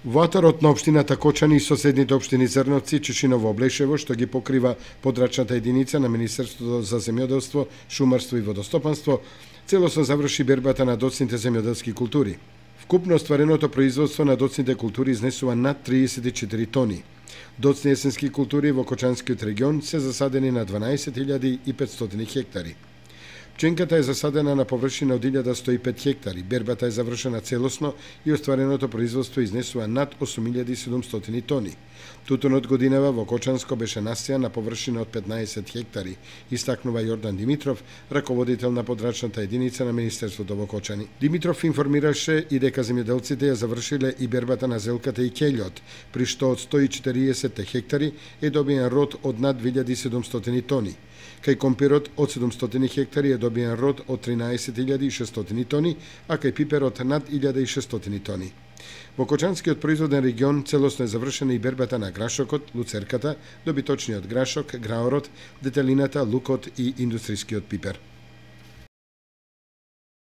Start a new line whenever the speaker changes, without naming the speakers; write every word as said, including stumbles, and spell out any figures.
Ваторот на општината Кочани и соседните општини Зрновци, Чешиново, Облешево, што ги покрива подрачната единица на Министерството за земјоделство, шумарство и водостопанство, целосно заврши бербата на доцните земјоделски култури. Вкупно оствареното производство на доцните култури изнесува над триесет и четири тони. Доцни есенски култури во Кочанскиот регион се засадени на дванаесет илјади и петстотини хектари. Пченката е засадена на површина од илјада сто и пет хектари, бербата е завршена целосно и оствареното производство изнесува над осум илјади и седумстотини тони. Тутунот годинава во Кочанско беше насејан на површина од петнаесет хектари, истакнува Јордан Димитров, раководител на подрачната единица на Министерството во Кочани. Димитров информираше и дека земјоделците ја завршиле и бербата на зелката и кељот, при што од сто и четириесет хектари е добиен род од над две илјади и седумстотини тони. Кај компирот од седумстотини хектари е добиен род од тринаесет илјади и шестстотини тони, а кај пиперот над илјада и шестстотини тони. Во Кочанскиот производен регион целосно е завршена и бербата на грашокот, луцерката, добиточниот грашок, граорот, детелината, лукот и индустрискиот пипер.